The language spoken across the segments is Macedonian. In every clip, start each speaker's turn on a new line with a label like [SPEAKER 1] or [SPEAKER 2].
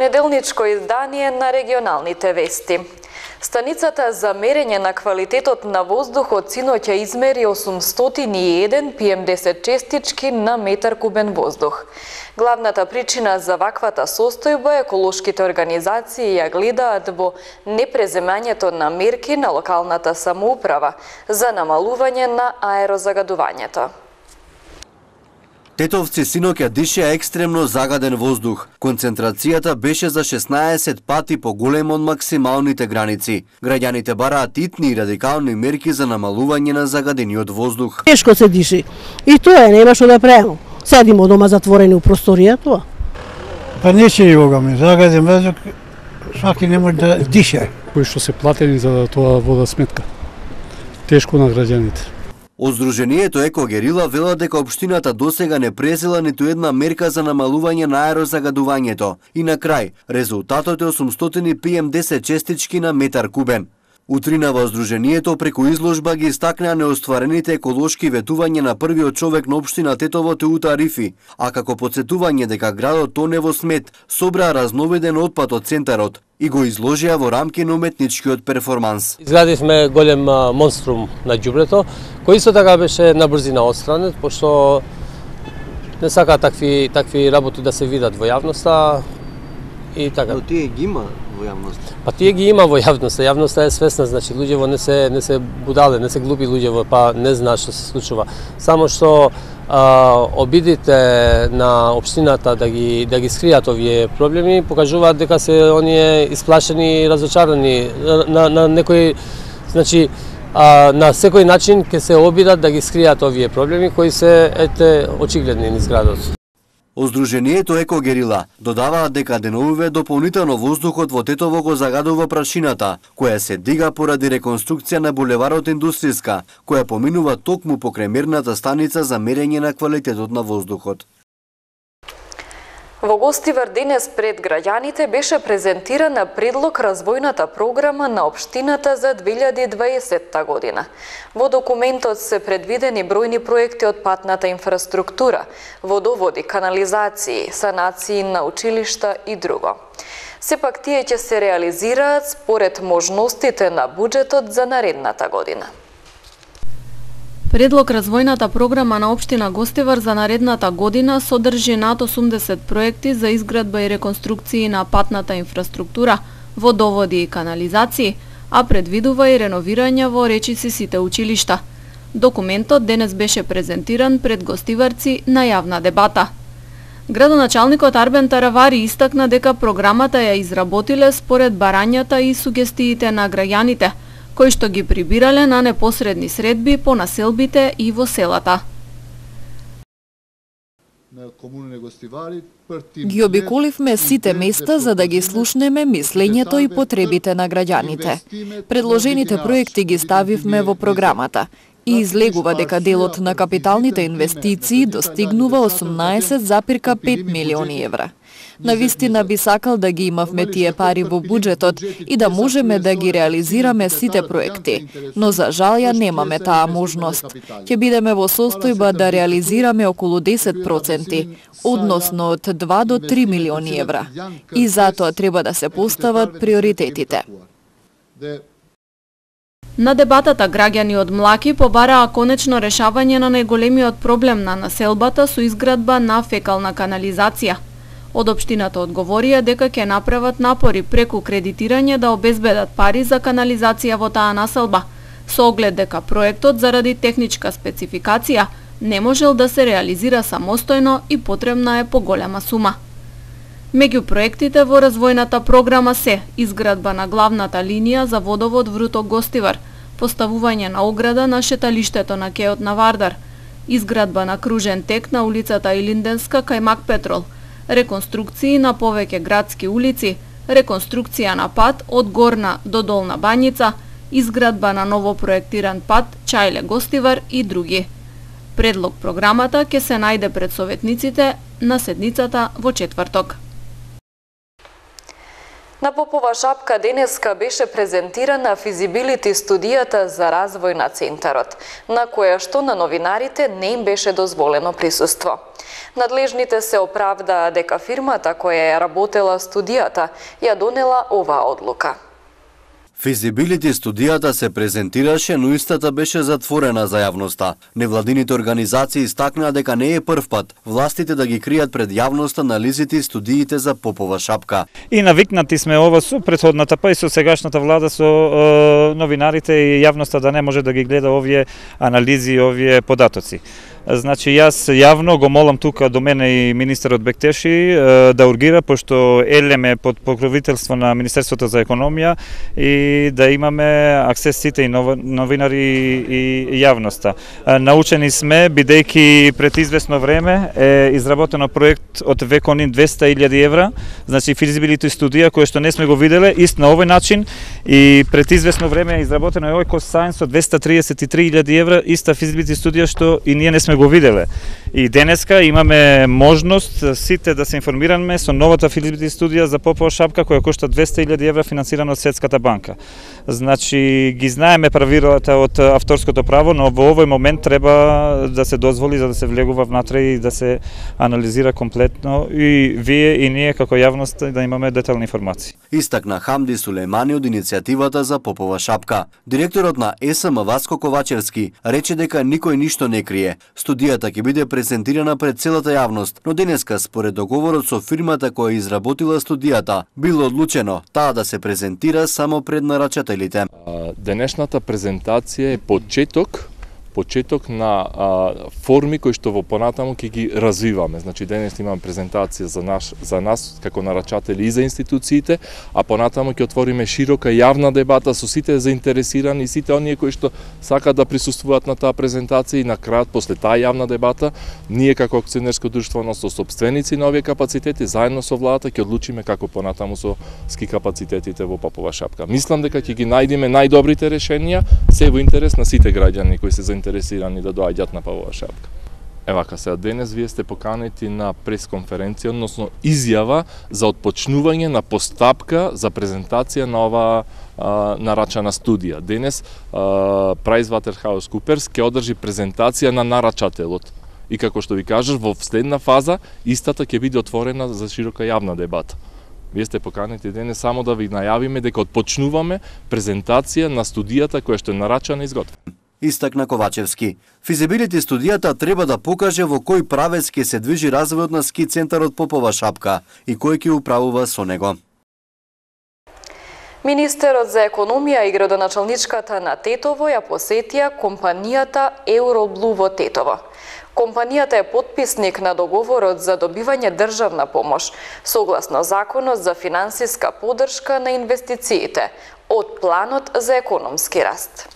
[SPEAKER 1] понеделничко издание на регионалните вести. Станицата за мерење на квалитетот на воздухот синоќа измери 801 PM10 честички на метар кубен воздух. Главната причина за ваквата состојба еколошките организации ја гледаат во непреземањето на мерки на локалната самоуправа за намалување на аерозагадувањето.
[SPEAKER 2] Тетовци синоќа дишеа екстремно загаден воздух. Концентрацијата беше за 16 пати поголема од максималните граници. Граѓаните бараат итни и радикални мерки за намалување на загадениот воздух.
[SPEAKER 3] Тешко се диши. И тоа нема што да правиме. Седимо дома затворени у просторија тоа.
[SPEAKER 4] Па не се јогаме, загаден воздух, сваки не може да диша.
[SPEAKER 5] Кои што се платени за тоа водосметка. Тешко на граѓаните.
[SPEAKER 2] Од Сдруженијето Екогерила велат дека општината досега не презела ниту една мерка за намалување на аерозагадувањето. И на крај, резултатот е 800 PM10 честички на метар кубен. Утрина во Сдруженијето преку изложба ги истакнаа неостварените еколошки ветувања на првиот човек на општина Тетово Теута Рифи, а како потсетување дека градот тоне во смет, собраа разновиден отпад од центарот и го изложија во рамки на уметничкиот перформанс.
[SPEAKER 6] Изградивме голем монструм на ѓубрето, кој исто така беше на брзина отстранет, пошто не сака такви работи да се видат во јавноста и така.
[SPEAKER 2] Но тие ги има во јавноста.
[SPEAKER 6] Па тие ги има во јавноста, јавноста е свесна, значи луѓево не се будале, не се глупи луѓево, па не знаат што се случува. Само што обидите на општината да ги скријат овие проблеми покажуваат дека се оние исплашени и разочарани на некој, значи на секој начин ќе се обидат да ги скријат овие проблеми кои се очигледни низ градот.
[SPEAKER 2] Од Сдруженијето Екогерила додаваат дека деновиве дополнително воздухот во Тетово го загадува прашината, која се дига поради реконструкција на булеварот Индустријска, која поминува токму покрај мерната станица за мерење на квалитетот на воздухот.
[SPEAKER 1] Во Гостивар денес пред граѓаните беше презентирана предлог развојната програма на општината за 2020 година. Во документот се предвидени бројни проекти од патната инфраструктура, водоводи, канализации, санации на училишта и друго. Сепак тие ќе се реализираат според можностите на буџетот за наредната година.
[SPEAKER 7] Предлог развојната програма на општина Гостивар за наредната година содржи над 80 проекти за изградба и реконструкции на патната инфраструктура, водоводи и канализации, а предвидува и реновирање во речиси сите училишта. Документот денес беше презентиран пред гостиварци на јавна дебата. Градоначалникот Арбен Таравари истакна дека програмата ја изработиле според барањата и сугестиите на граѓаните, кои што ги прибирале на непосредни средби по населбите и во селата.
[SPEAKER 8] Ги обиколивме сите места за да ги слушнеме мислењето и потребите на граѓаните. Предложените проекти ги ставивме во програмата и излегува дека делот на капиталните инвестиции достигнува 18,5 милиони евра. Навистина би сакал да ги имавме тие пари во буџетот и да можеме да ги реализираме сите проекти, но за жал ја немаме таа можност. Ќе бидеме во состојба да реализираме околу 10%, односно од 2 до 3 милиони евра. И затоа треба да се постават приоритетите.
[SPEAKER 7] На дебатата граѓани од Млаки побараа конечно решавање на најголемиот проблем на населбата со изградба на фекална канализација. Од општината одговорија дека ќе направат напори преку кредитирање да обезбедат пари за канализација во таа населба, со оглед дека проектот заради техничка спецификација не можел да се реализира самостојно и потребна е поголема сума. Меѓу проектите во развојната програма се изградба на главната линија за водовод Вруток Гостивар, поставување на ограда на шеталиштето на кеот на Вардар, изградба на кружен тек на улицата Илинденска кај Мак Петрол, реконструкции на повеќе градски улици, реконструкција на пат од Горна до Долна Бањица, изградба на ново проектиран пат Чајле Гостивар и други. Предлог програмата ќе се најде пред советниците на седницата во четврток.
[SPEAKER 1] На Попова шапка денеска беше презентирана физибилити студијата за развој на центарот, на која што на новинарите не им беше дозволено присуство. Надлежните се оправдаа дека фирмата која ја работела студијата ја донела оваа одлука.
[SPEAKER 2] Физибилити студијата се презентираше, но истата беше затворена за јавноста. Невладините организации истакнаа дека не е прв пат властите да ги кријат пред јавноста анализите и студиите за Попова шапка.
[SPEAKER 9] И навикнати сме ова со претходната, па и со сегашната влада, со новинарите и јавноста да не може да ги гледа овие анализи и овие податоци. Значи, јас јавно го молам тука до мене и министерот Бектеши да ургира, пошто елеме под покровителство на Министерството за економија и да имаме аксес сите и новинари и јавноста. Научени сме, бидејќи пред известно време е изработено проект од Веконин 200.000 евра, значи физибилити студија која што не сме го виделе, ист на овој начин, и пред известно време е изработено и Eco-Science од 233.000 евра, иста физибилити студија што и ние не сме го виделе. И денеска имаме можност сите да се информираме со новата физибилити студија за Попова шапка која кошта 200.000 евра, финансирана од Светската банка. Значи, ги знаеме правилата од авторското право, но во овој момент треба да се дозволи за да се влегува внатре и да се анализира комплетно и вие и ние како јавност да имаме детални информации.
[SPEAKER 2] Истакна Хамди Сулеймани од иницијативата за Попова шапка. Директорот на ЕСМ Васко Ковачевски рече дека никој ништо не крие. Студијата ќе биде презентирана пред целата јавност, но денеска според договорот со фирмата која изработила студијата, било одлучено таа да се презентира само пред нарачателите.
[SPEAKER 10] Денешната презентација е почеток на форми кои што во понатаму ќе ги развиваме. Значи денес имаме презентација за нас како нарачатели и за институциите, а понатаму ќе отвориме широка јавна дебата со сите заинтересирани, сите оние кои што сакаат да присуствуваат на таа презентација, и на крајот после таа јавна дебата ние како акционерско друштво, односно сопственици на овие капацитети, заедно со владата ќе одлучиме како понатаму со ски капацитетите во Попова шапка. Мислам дека ќе ги најдеме најдобрите решенија, се во интерес на сите граѓани кои се заинтересирани да доаѓат на Попова шапка. Евака сега, денес вие сте поканети на пресконференција, односно изјава за отпочнување на постапка за презентација на ова нарачана студија. Денес PricewaterhouseCoopers ќе одржи презентација на нарачателот. И како што ви кажеш, во следна фаза истата ќе биде отворена за широка јавна дебата. Вие сте поканети денес само да ви најавиме дека отпочнуваме презентација на студијата која што е нарачана и изготвена.
[SPEAKER 2] Истакна Ковачевски. Физибилити студијата треба да покаже во кој правец ќе се движи развојот на ски центарот Попова шапка и кој ќе управува со него.
[SPEAKER 1] Министерот за економија и градоначалничката на Тетово ја посетија компанијата Euroblue во Тетово. Компанијата е потписник на договорот за добивање државна помош, согласно Законот за финансиска поддршка на инвестициите од Планот за економски раст.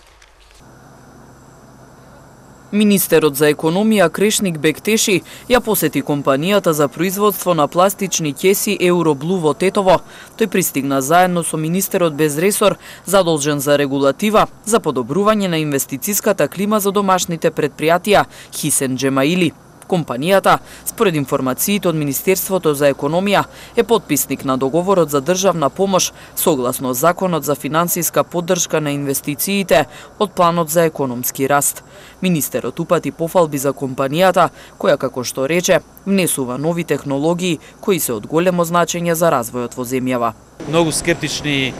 [SPEAKER 11] Министерот за економија Крешник Бектеши ја посети компанијата за производство на пластични ќеси Euroblue во Тетово. Тој пристигна заедно со министерот без ресор, задолжен за регулатива за подобрување на инвестициската клима за домашните предпријатија, Хисен Джемаили. Компанијата, според информациите од Министерството за економија, е потписник на договорот за државна помош согласно Законот за финансиска поддршка на инвестициите од Планот за економски раст. Министерот упати пофалби за компанијата, која, како што рече, внесува нови технологии кои се од големо значење за развојот во земјава.
[SPEAKER 12] Многу скептични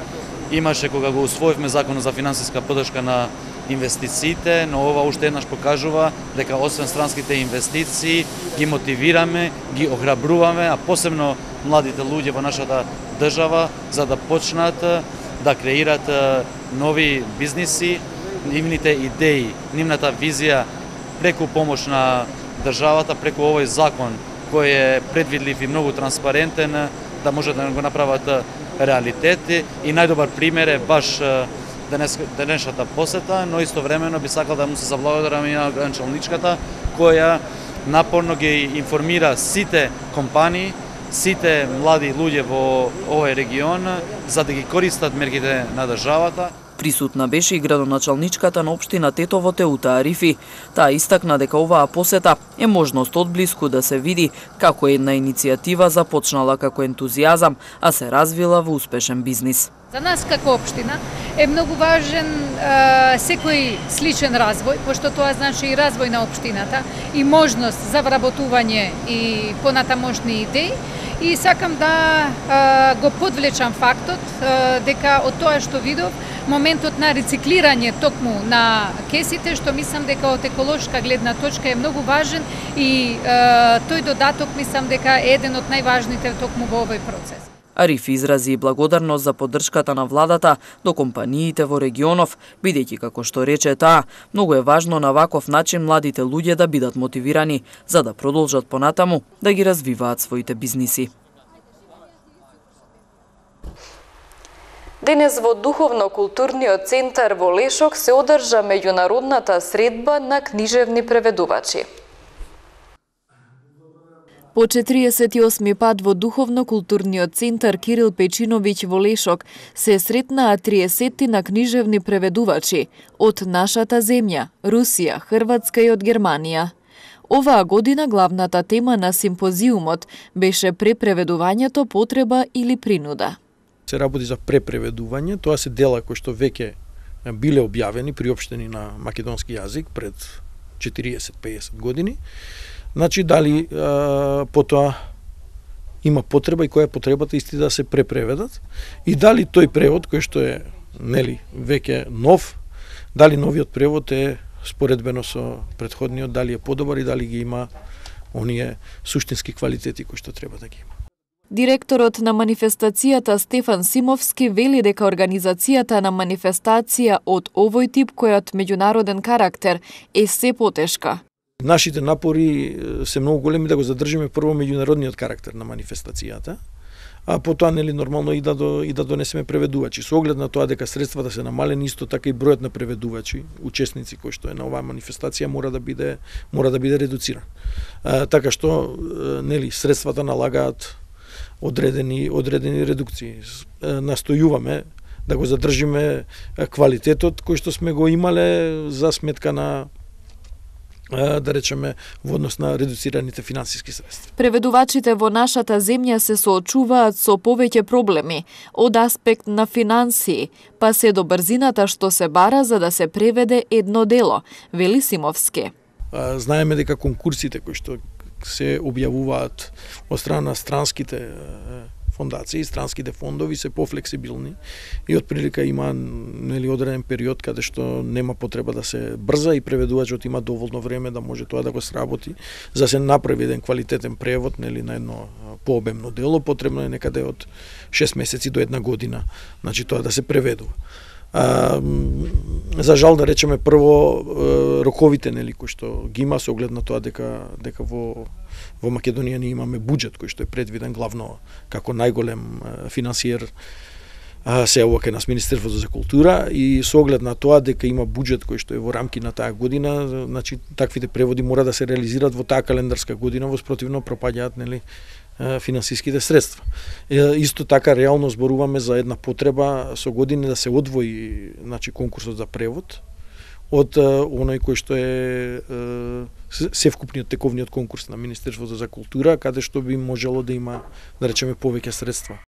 [SPEAKER 12] имаше кога го усвоивме Законот за финансиска поддршка на инвестициите, но ова уште еднаш покажува дека освен странските инвестиции ги мотивираме, ги охрабруваме, а посебно младите луѓе во нашата држава за да почнат да креират нови бизниси, нивните идеи, нивната визија преку помош на државата, преку овој закон кој е предвидлив и многу транспарентен, да може да го направат реалитети. И најдобар пример е баш денешната посета, но истовремено би сакал да му се заблагодарам и на градоначалничката која напорно ги информира сите компании, сите млади луѓе во овој регион за да ги користат мерките на државата.
[SPEAKER 11] Присутна беше и градоначалничката на општина Тетово Теута Арифи. Таа истакна дека оваа посета е можност одблиску да се види како една иницијатива започнала како ентузијазам, а се развила во успешен бизнис.
[SPEAKER 13] За нас како општина е многу важен секој сличен развој, пошто тоа значи и развој на општината и можност за вработување и понатамошни идеи. И сакам да го подвлечам фактот дека од тоа што видов, моментот на рециклирање токму на кесите, што мислам дека од еколошка гледна точка е многу важен и тој додаток мислам дека е еден од најважните токму во овој процес.
[SPEAKER 11] Ариф изрази и благодарност за поддршката на владата до компаниите во регионов, бидејќи како што рече таа, многу е важно на ваков начин младите луѓе да бидат мотивирани за да продолжат понатаму да ги развиваат своите бизниси.
[SPEAKER 1] Денес во Духовно-културниот центар во Лешок се одржа меѓународната средба на книжевни преведувачи.
[SPEAKER 8] По 48 пат во Духовно-културниот центар Кирил Печиновиќ во Лешок се сретнаа 30 на книжевни преведувачи од нашата земја, Русија, Хрватска и од Германија. Оваа година главната тема на симпозиумот беше препреведувањето потреба или принуда.
[SPEAKER 14] Се работи за препреведување, тоа се дела кои што веќе биле објавени, приопштени на македонски јазик пред 40-50 години. Значи, дали потоа има потреба и која е потребата исти да се препреведат и дали тој превод кој што е веќе нов, дали новиот превод е споредбено со претходниот, дали е подобар и дали ги има оние суштински квалитети кои што треба да ги има.
[SPEAKER 8] Директорот на манифестацијата Стефан Симовски вели дека организацијата на манифестација од овој тип кој од меѓународен карактер е се потешка.
[SPEAKER 14] Нашите напори се многу големи да го задржиме прво меѓународниот карактер на манифестацијата, а потоа нормално и да донесеме преведувачи. Со оглед на тоа дека средствата се намалени, исто така и бројот на преведувачи, учесници кои што е на оваа манифестација мора да биде редуциран. Така што средствата налагаат одредени редукции. Настојуваме да го задржиме квалитетот кој што сме го имале за сметка на да речеме во однос на редуцираните финансиски средства.
[SPEAKER 8] Преведувачите во нашата земја се соочуваат со повеќе проблеми од аспект на финансии, па се до брзината што се бара за да се преведе едно дело, вели Симовски.
[SPEAKER 14] Знаеме дека конкурсите кои што се објавуваат од страна на странските фондации, странските фондови се пофлексибилни и отприлика има одреден период каде што нема потреба да се брза и преведувачот има доволно време да може тоа да го сработи за да се направи еден квалитетен превод на едно пообемно дело, потребно е некаде од 6 месеци до 1 година, значи тоа да се преведува. За жал да речеме прво роковите кои што ги има со оглед на тоа дека во Македонија ние имаме буџет кој што е предвиден главно како најголем финансиер се ова кај нас Министерството за култура и со оглед на тоа дека има буџет кој што е во рамки на таа година, значи таквите преводи мора да се реализираат во таа календарска година, во спротивно пропаѓаат финансиските средства. Исто така реално зборуваме за една потреба со години да се одвои конкурсот за превод од оној кој што е севкупниот тековниот конкурс на Министерството за култура, каде што би можело да има, да речеме, повеќе средства.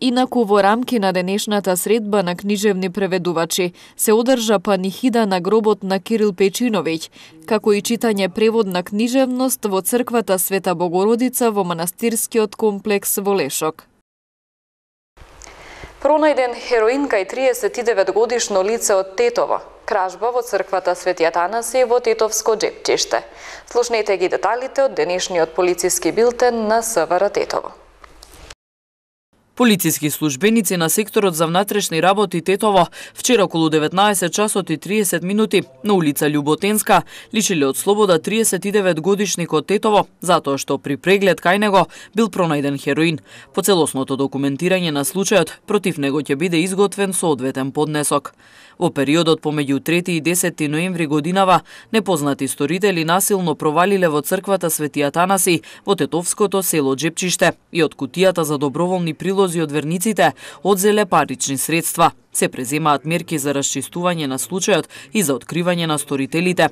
[SPEAKER 8] Инаку во рамки на денешната средба на книжевни преведувачи се одржа панихида на гробот на Кирил Печиновиќ, како и читање превод на книжевност во црквата Света Богородица во манастирскиот комплекс во Лешок.
[SPEAKER 1] Пронајден хероин кај 39 годишно лице од Тетово. Кражба во црквата Свети Атанасиј во Тетовско Джепчиште. Слушнете ги деталите од денешниот полициски билтен на СВР Тетово.
[SPEAKER 11] Полициски службеници на секторот за внатрешни работи Тетово вчера околу 19 часот и 30 минути на улица Љуботенска лишиле од слобода 39 годишникот Тетово затоа што при преглед кај него бил пронајден хероин. По целосното документирање на случајот против него ќе биде изготвен соодветен поднесок. Во периодот помеѓу 3 и 10 ноември годинава непознати сторители насилно провалиле во црквата Свети Атанасиј во тетовското село Джепчиште и од кутијата за доброволни прилози налози од верниците, одзеле парични средства. Се преземаат мерки за расчистување на случајот и за откривање на сторителите.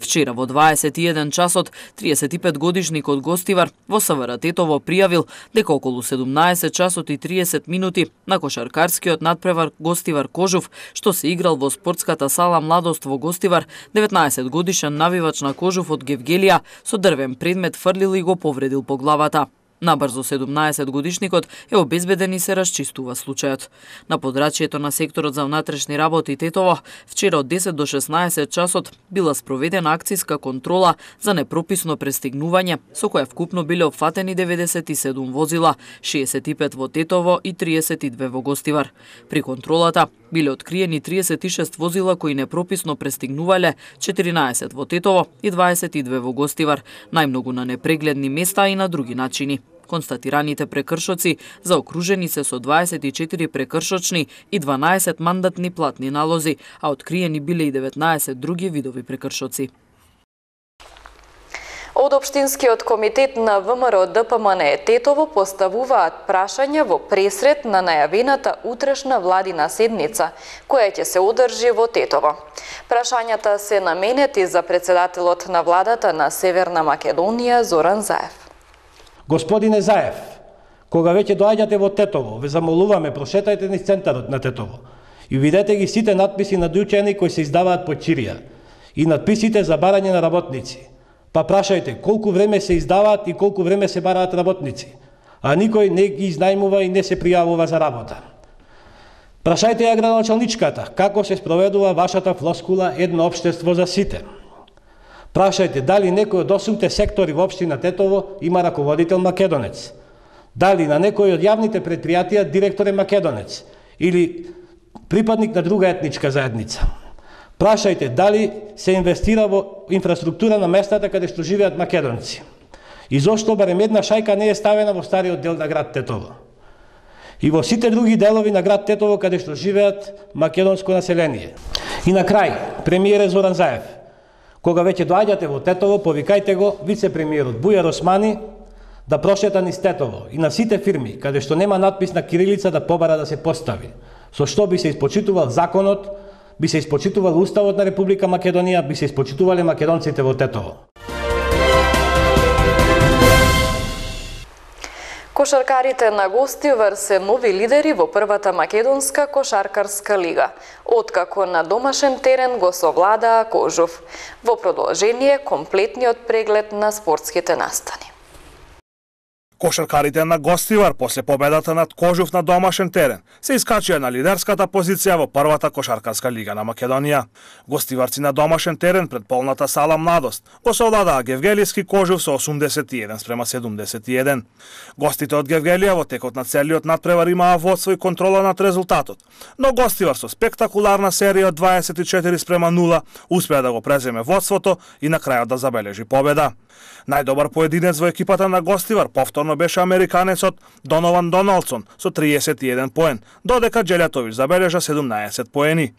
[SPEAKER 11] Вчера во 21 часот 35 годишник од Гостивар во СВР Тетово пријавил дека околу 17 часот и 30 минути на кошаркарскиот надпревар Гостивар Кожув, што се играл во спортската сала Младост во Гостивар, 19 годишен навивач на Кожув од Гевгелија со дрвен предмет фрлил и го повредил по главата. Набрзо 17 годишникот е обезбеден и се расчистува случајот. На подрачјето на секторот за внатрешни работи Тетово, вчера од 10 до 16 часот била спроведена акцијска контрола за непрописно пристигнување, со која вкупно биле опфатени 97 возила, 65 во Тетово и 32 во Гостивар. При контролата биле откриени 36 возила кои непрописно пристигнувале, 14 во Тетово и 22 во Гостивар, најмногу на непрегледни места и на други начини. Констатираните прекршоци заокружени се со 24 прекршочни и 12 мандатни платни налози, а откриени биле и 19 други видови прекршоци.
[SPEAKER 1] Од Општинскиот комитет на ВМРО ДПМН Тетово поставуваат прашања во пресрет на најавената утрешна владина седница, која ќе се одржи во Тетово. Прашањата се наменети за председателот на владата на Северна Македонија Зоран Заев.
[SPEAKER 15] Господине Заев, кога веќе доаѓате во Тетово, ве замолуваме прошетајте низ центарот на Тетово и видете ги сите надписи на учени кои се издаваат по чирија и надписите за барање на работници. Па прашајте колку време се издаваат и колку време се бараат работници, а никој не ги изнајмува и не се пријавува за работа. Прашајте ја градоначалничката како се спроведува вашата флоскула едно општество за сите. Прашајте дали некој од 8 сектори во општина Тетово има раководител македонец. Дали на некој од јавните предпријатија директор е македонец или припадник на друга етничка заедница. Прашајте дали се инвестира во инфраструктура на местата каде што живеат македонци. И зошто барем една шајка не е ставена во стариот дел на град Тетово. И во сите други делови на град Тетово каде што живеат македонско население. И на крај, премиерот Зоран Заев, кога веќе доаѓате во Тетово, повикајте го вице-премиерот Бујар Османи да прошета низ Тетово и на сите фирми каде што нема надпис на кирилица да побара да се постави. Со што би се испочитувал законот, би се испочитувал Уставот на Република Македонија, би се испочитувале македонците во Тетово.
[SPEAKER 1] Кошаркарите на Гостивар се нови лидери во првата македонска кошаркарска лига, откако на домашен терен го совладаа Кожув. Во продолжение комплетниот преглед на спортските настани.
[SPEAKER 16] Кошаркарите на Гостивар после победата над Кожув на домашен терен се искачија на лидерската позиција во првата кошаркарска лига на Македонија. Гостиварци на домашен терен пред полната сала Младост го совладаа Гевгелијски Кожув со 81:71. Гостите од Гевгелија во текот на целиот надпревар имаа водство и контрола над резултатот, но Гостивар со спектакуларна серија од 24:0 успеа да го преземе водството и на крајот да забележи победа. Најдобар поединец во екипата на Гостивар повторно беше американецот Донован Доналдсон со 31 поен, додека Джелјатовиќ забележа 17 поени.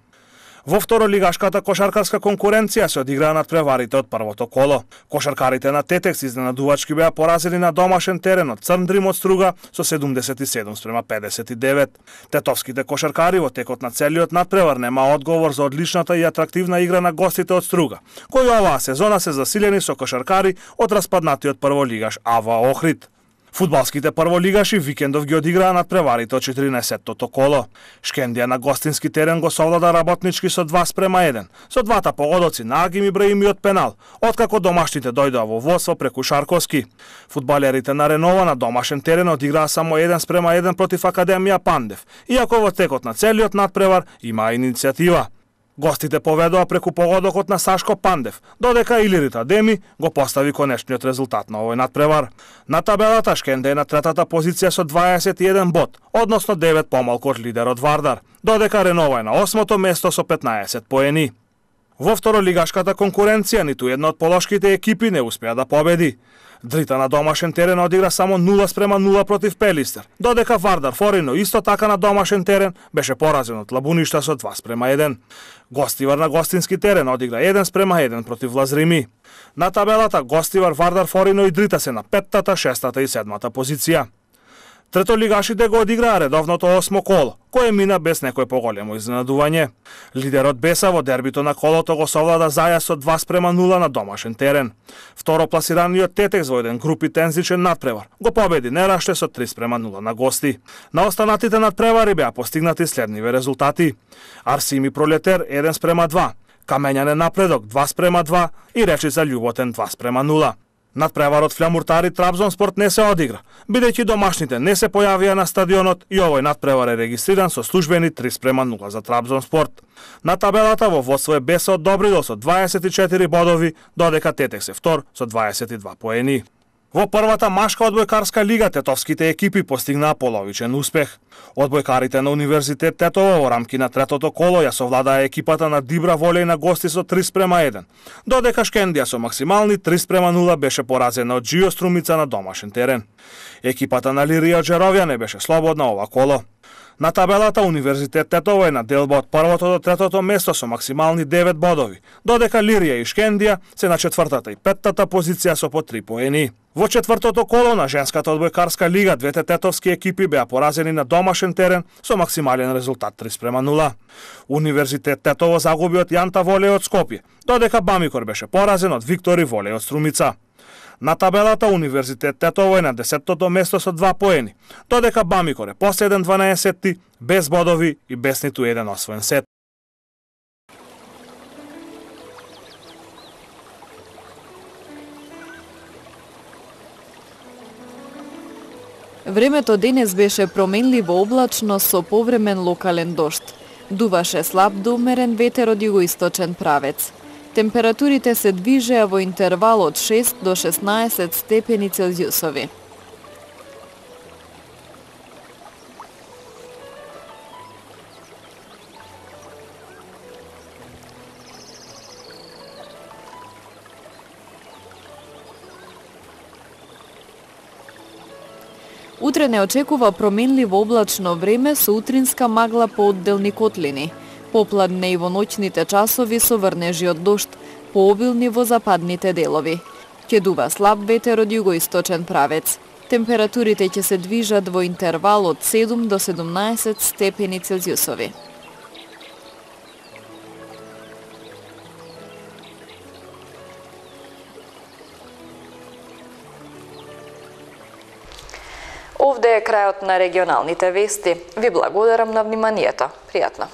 [SPEAKER 16] Во второлигашката кошаркарска конкуренција се одиграа надпреварите од првото коло. Кошаркарите на Тетекс изненадувачки беа поразени на домашен терен од Црн Дрим од Струга со 77:59. Тетовските кошаркари во текот на целиот надпревар нема одговор за одличната и атрактивна игра на гостите од Струга, кои оваа сезона се засилени со кошаркари од распаднатиот прволигаш АВА Охрид. Фудбалските прволигаши викендов ги одиграа надпреварите од 14-тото коло. Шкендија на гостински терен го совлада работнички со 2:1, со двата погодоци на Агим Ибраими од пенал, откако домашните дојдоа во водство преку Шарковски. Фудбалерите на Ренова на домашен терен одиграа само 1:1 против Академија Пандев, иако во текот на целиот надпревар имаа иницијатива. Гостите поведоа преку погодокот на Сашко Пандев, додека Илирит Адеми го постави конечниот резултат на овој надпревар. На табелата Шкенде е на третата позиција со 21 бод, односно 9 помалку од лидерот Вардар, додека Ренова е на 8-то место со 15 поени. Во второлигашката конкуренција ниту една од полошките екипи не успеа да победи. Дрита на домашен терен одигра само 0:0 против Пелистер, додека Вардар Форино исто така на домашен терен беше поразен од Лабуништа со 2:1. Гостивар на гостински терен одигра 1:1 против Лазрими. На табелата Гостивар, Вардар Форино и Дрита се на 5-та, 6-та и 7-та позиција. Третолигашите го одиграа редовното 8 коло, кое мина без некој поголемо изненадување. Лидерот Беса во дербито на колото го совлада Заја со 2:0 на домашен терен. Второ пласираниот Тетекс во еден групи тензичен надпревар го победи Нераште со 3:0 на гости. На останатите надпревари беа постигнати следниве резултати: Арсими Пролетер 1:2, Камењане Напредок 2:2 и Речица Љуботен 2:0. Надпреварот Флямуртари Трабзонспорт не се одигра, бидејќи домашните не се појавија на стадионот и овој надпревар е регистриран со службени 3:0 за Трабзонспорт. На табелата во водство е Беса од Добридол со 24 бодови, додека Тетекс е втор со 22 поени. Во првата машка одбојкарска лига тетовските екипи постигнаа половичен успех. Одбојкарите на Универзитет Тетово во рамки на третото коло ја совладаа екипата на Дибра Волеј на гости со 3:1, додека Шкендија со максимални 3:0 беше поразена од Джио Струмица на домашен терен. Екипата на Лирија Джеровја не беше слободна ова коло. На табелата Универзитет Тетово е на делба од првото до третото место со максимални 9 бодови, додека Лирија и Шкендија се на четвртата и петтата позиција со по 3 поени. Во четвртото коло на женската одбојкарска лига двете тетовски екипи беа поразени на домашен терен со максимален резултат 3:0. Универзитет Тетово загуби од Јанта Волеј од Скопје, додека Бамикор беше поразен од Виктори Волеј од Струмица. На табелата Универзитет Тетово е на 10-тото место со 2 поени, додека Бамикор е последен 12-ти, без бодови и без ниту еден освоен сет.
[SPEAKER 8] Времето денес беше променливо облачно со повремен локален дожд. Дуваше слаб до умерен ветер од југоисточен правец. Температурите се движеа во интервал од 6 до 16 степени Целзиусови. Утре не очекува променливо облачно време со утринска магла по одделни котлини. Попладне и во ноќните часови со врнежи од дожд, пообилни во западните делови. Ќе дува слаб ветер од југоисточен правец. Температурите ќе се движат во интервал од 7 до 17 степени Целзиусови.
[SPEAKER 1] Овде е крајот на регионалните вести. Ви благодарам на вниманието. Пријатно.